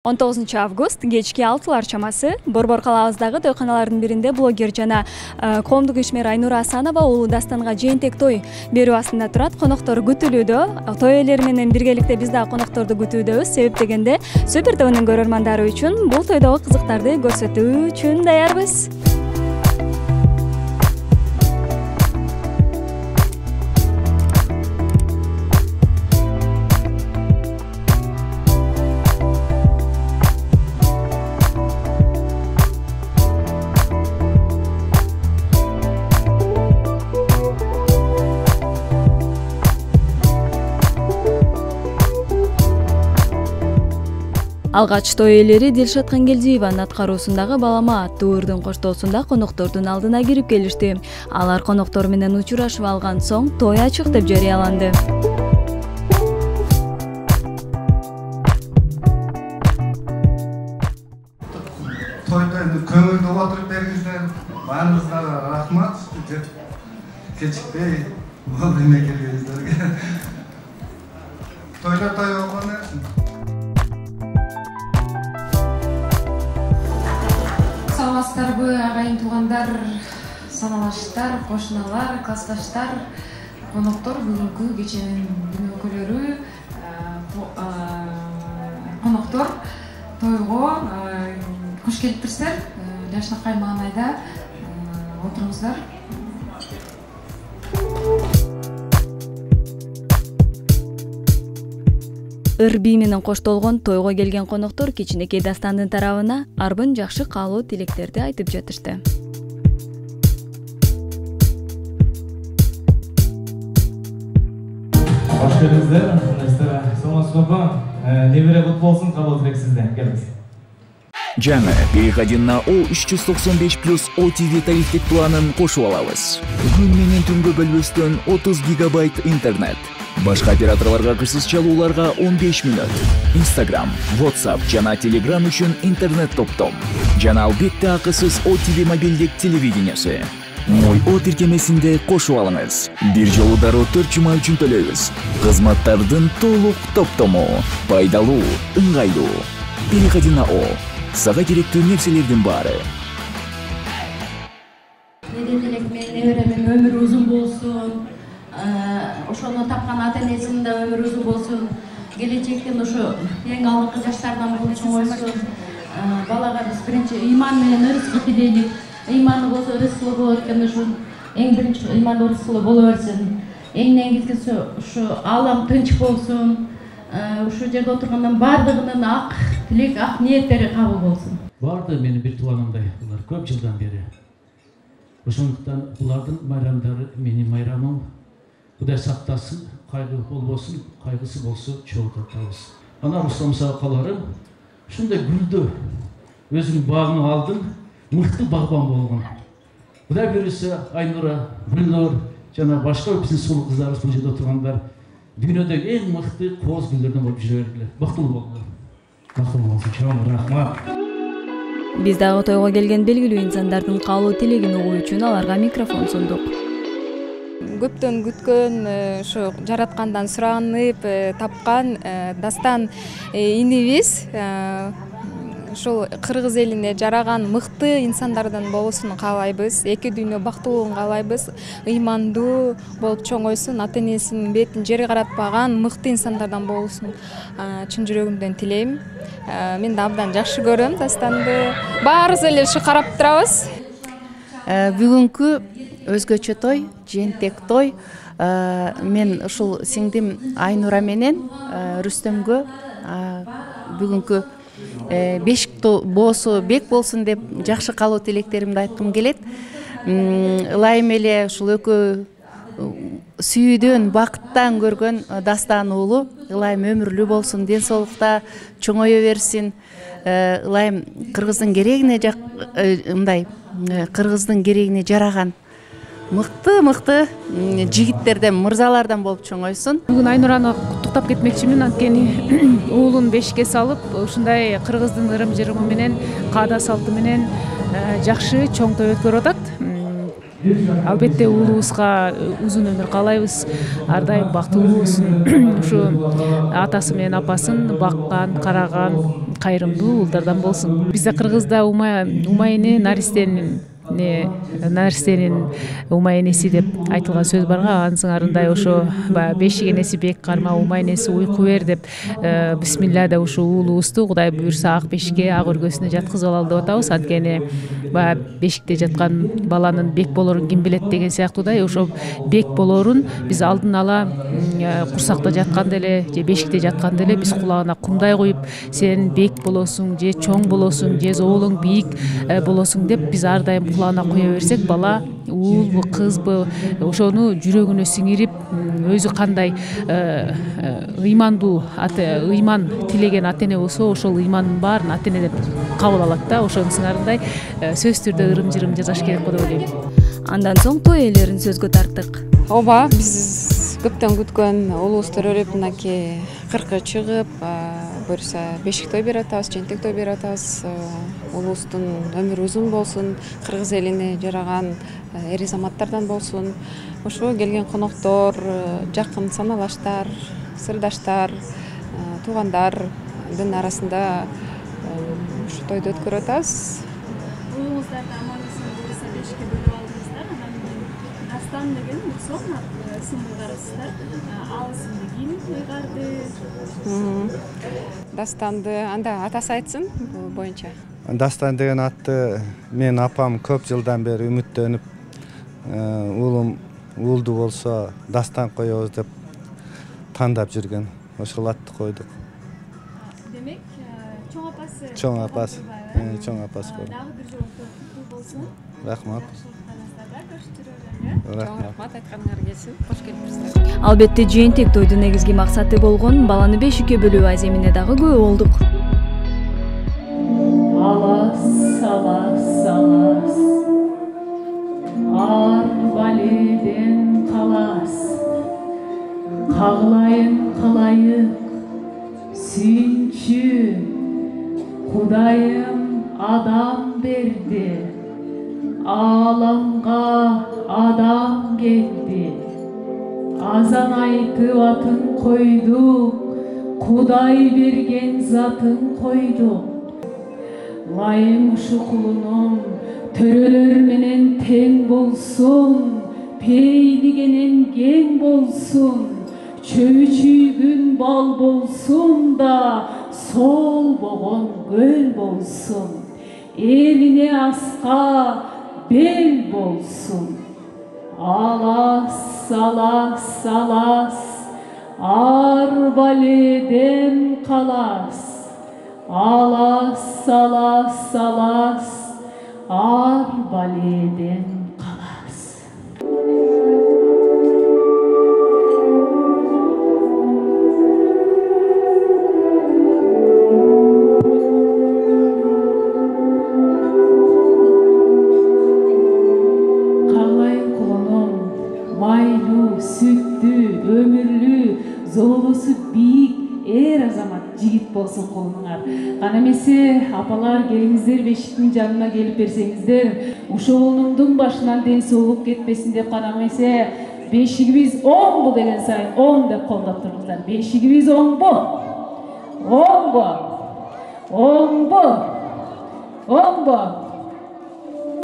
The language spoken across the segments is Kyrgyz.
19 август кечки 6 чамасы Борбор калабыздагы тойканалардын биринде блогер жана коомдук ишмер Айнура Асанова уулу Дастанга жээнтек той берүү астында турат. Коноктор күтүлүүдө. Той ээлери менен биргеликте биз дагы конокторду күтүүдөбүз. Себеп дегенде Супер ТВнын көрөрмандары үчүн бул тойдогу кызыктарды көрсөтүү үчүн даярбыз. Алгач той ээлери Дилшат Кангелдиеванын аткаруусундагы Балама аттуу ырдын коштоосунда коноктордун алдына кирип келишти. Алар коноктор менен учурашып алган соң той ачык деп жарыяланды. Тойда көңүлдү отуруп бериңиздер. Баарыңызга рахмат. Кечикпей вовремя келгениңиздерге. Тойда той болгону саламатсыздарбы, агайын туугандар, саналаштар, кошуналар, классташтар, коноктор, бүгүнкү кеченин күн өкүлөрү, коноктор тойго кош келиптирсиздер. Жашнакай маанайда отуруңуздар. Ыр-бий менен коштолгон тойго келген коноктор кичинекей Дастандын тарабына арбын жакшы каалоо тилектерди айтып жатышты. Кош келиңиздер. Саламатсызбы? Небере кут болсун, каалоо тилек сизден. Келиңиз. Жаңы переходи на O395+ OTV тарифтик планын кошуп алабыз. Күн менен түнгө бөлбөстөн 30 гигабайт интернет. Башка операторлорго кырсыз чалууларга 15 мүнөт. Instagram, WhatsApp жана Telegram үчүн интернет топтом. Жана албетте акысыз OTV мобилдик телевидениясы. Мой О тиркемесинде кошуп алыңыз. Бир жолу дароо 4 жума үчүн төлөйбүз. Кызматтардын толук топтому. Пайдалуу, ыңгайлуу. Переходи на О. Сага керектүү нерселердин баары. Неберемен өмүрү узун болсун. Ошону тапкан ата-энесинин да өмүрү узун болсун. Келечектен ошо эң алгы жаштардан болуп чоңойсун. Балага биз биринчи ыйман менен ырыскы тилейбиз. Ыйманы болсо ырыскылуу болот экен, ошо эң биринчи ыйман ырыскылуу боло берсин. Эң негизгиси ушу алам тынч болсун. Ушул жерде отургандан бардыгынын ак тилек, ак ниеттери кабыл болсун. Барды менин бир тууганымдай, булар көп жылдан бери. Ошондуктан булардын майрамдары менин майрамым. Кудай сактасын, кайгы болбосун, кайгысы болсо чогуу татабыз. Ана Руслан сакаларым ушундай гүлдү өзүнүн багына алдым, мыкты багбан болгон. Кудай берсе Айнура, Гүлнур жана башка биздин сулуу кыздарыбыз бул жерде отургандар дүйнөдөгү эң мыкты кооз гүлдөрдөн болуп жүрө бергиле. Бактылуу болгула. Бактылуу болсун, чоң рахмат. Биз дагы тойго келген белгилүү инсандардын каалоо тилегин угуу үчүн аларга микрофон сундук. Көптөн күткөн, ошо жараткандан суранып, тапкан Дастан инибиз. Ушул кыргыз элине жараган мыкты инсандардан болуусун каалайбыз. Эки дүйнө бактылуулугун каалайбыз. Ыймандуу болуп чоңойсун, ата-энесинин бетин жери каратпаган мыкты инсандардан болуусун чын жүрөгүмдөн тилейм. Мен да абдан жакшы көрөм Дастанды. Баарыбыз эле ушу карап турабыз. Бүгүнкү өзгөчө той, жээнтек той. Мен ушул сиңдим Айнура менен Рүстөмгө бүгүнкү бешик боосу бек болсун деп жакшы каалоо тилектеримди айткым келет. Ылайым эле ушул экөө сүйүүдөн, бакыттан көргөн Дастан уулу ылайым өмүрлүү болсун, ден соолукта чоңое берсин. Ылайым кыргыздын керегине мындай кыргыздын керегине жараган мыкты жигиттерден, мырзалардан болуп чоңойсун. Бүгүн Айнураны куттуктап кетмекчимин, анткени уулун бешикке салып, ушундай кыргыздын ырым-жырымы менен, каада салты менен жакшы чоң той өткөрүп атат. Албетте уулубузга узун өмүр каалайбыз. Ар дайым бактылуу болсун. Ушу атасы менен апасын баккан, караган, кайрымдуу уулдардан болсун. Бизде кыргызда умайне наристенин умай энеси деп айтылган сөз барга, анын сыңарындай ошо баягы бешик энеси бек карма, умай энеси уйку бер деп бисмилля ушу уулубузду Кудай буюрса ак бешикке, ак өргөсүнө жаткызып алалы деп атабыз. Анткени баягы бешикте жаткан баланын бек болорун ким билет деген сыяктуудай, ошо бек болорун биз алдын ала курсакта жатканда эле же бешикте жатканда эле биз кулагына кумдай коюп, сен бек болосуң же чоң болосуң же зоолуң бийик болосуң деп биз ар дайым кулагына куя берсек, бала уулбу кызбы ошону жүрөгүнө сиңирип, өзү кандай ыймандуу ыйман тилеген ата эне болсо, ошол ыймандын баарын ата эне деп кабыл алат да. Ошонун сыңарындай сөзсүз түрдө ырым-жырым жасаш керек го деп ойлойм. Андан соң той ээлерин сөзгө тарттык. Ооба, биз көптөн күткөн улуубуз төрөлүп, мынакей кыркы чыгып, буюрса бешик той берип атабыз, жентек той берип атабыз. Улуубуздун өмүрү узун болсун, кыргыз элине жараган эри заматтардан болсун. Ошо келген коноктор, жакын саналаштар, сырдаштар, туугандардын арасында ушу тойду өткөрүп атабыз. Уулуңуздарды аман-эсен буюрса бешикке бөлүп алдыңыздар, анан дастан деген сон сымбылдарсыздар. Ал исимди ким ыйгарды? Dastanды анда атасы айтсын бул боюнча. Дастан деген атты мен апам көп жылдан бери үмүттөнүп, уулум уулду болсо дастан коебуз деп тандап жүргөн. Ошол атты койдук. Демек, чоң апасы. Чоң апасы. Чоң апасы болду. Дагы бир жолу куттук болсун. Рахмат. Рахмат айтканыңар келсин. Кош келипсиздер. Албетте жыйынтек тойдун негизги максаты болгон баланы бешикке бөлүү аземине дагы күбө болдук. Алас, алас, алас, ар баледен калас, кагылайын калайык, сүйүнчү, Кудайым адам берди, аламга адам келди, азан айтып атын койдук, Кудай берген затын койдук. Лайым ушу кулунум төрөлөр менен тең болсун, пейилигенен кең болсун, чөйчүйгүн бал болсун да, солбогон көл болсун, элине аска бел болсун. Алас, алас, алас, ар баледен калас, алас, алас, алас, ар баледен калас. Кагылайын кулунум, майлуу, сүттүү, өмүрлүү, зоолусу бийик эр азамат жигит болсун кулунуңар. Кана эмесе апалар келиңиздер, бешиктин жанына келип берсеңиздер, ушул уулумдун башынан ден соолук кетпесин деп, кана эмесе бешигибиз оңбу деген сайын оң деп колдоп туруңуздар. Бешигибиз оңбу? Оңбу? Оңбу? Оңбу?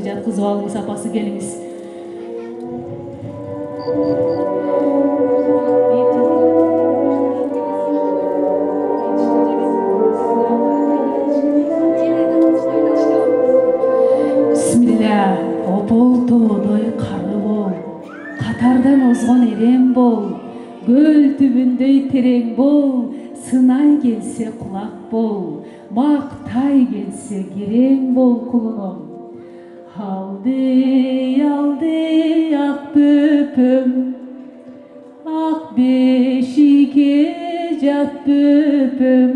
Жаткызып алыңыз, апасы келиңиз. Тоодой кары бол, катардан озгон эрем бол, көл түбүндөй терең бол, сынай келсе кулак бол, мактай келсе керең бол кулунум. Алды, алды ак бөпөм, ак бешикке жат бөпөм,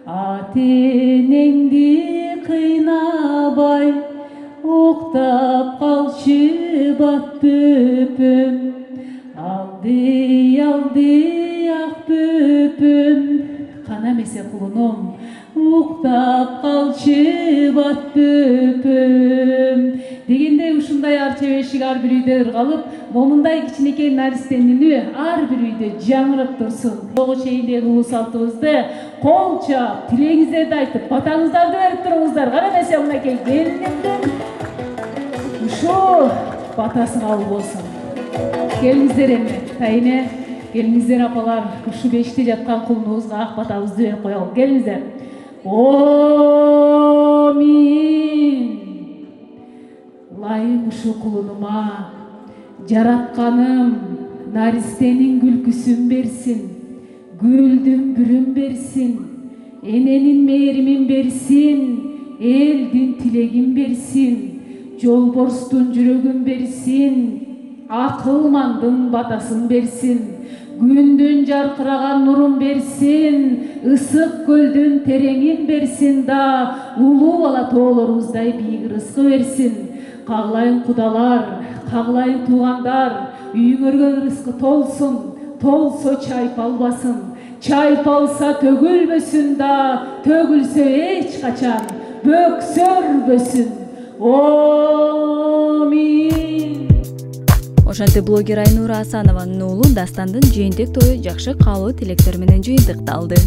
ата энеңди кыйнабай, октап калчы бат бөпөм. Алды, алды ак бөпөм, кана эмесе кулунум, уктап калчы бат бөпөм. Дегендей ушундай арча бешик ар бир үйдө ыргалып, момундай кичинекей наристенин үні ар бир үйдө жаңырып турсун. Тоо чейиндеги улуу салтыбызды кол чаап, тилегиңиздерди айтып, батаңыздарды берип туруңуздар. Кара эмесе мынакей келинимдин ушул батасы кабыл болсун. Келиңиздер эми, тайыне, келиңиздер апалар, ушу беште жаткан кулунубузга ак батабызды берип коелу. Келиңиздер. Амин. Лайым ушу кулунума, жаратканым наристенин күлкүсүн берсин, гүлдүн бүрүн берсин, эненин мээримин берсин, элдин тилегин берсин, жолборстун жүрөгүн берсин, акылмандын батасын берсин, күндүн жаркыраган нурун берсин, ысык көлдүн тереңин берсин да, улуу бала тоолорубуздай бийик рызкы берсин. Каглайын кудалар, каглайын туугандар, үйүңөргө рызкы толсун, толсо чайпалбасын, чайпалса төгүлбөсүн да, төгүлсө эч качан бөксөрбөсүн. Амин. Ошентип блогер Айнура Асанованын уулу Дастандын жээнтек тою жакшы каалоо тилектер менен жыйынтыкталды.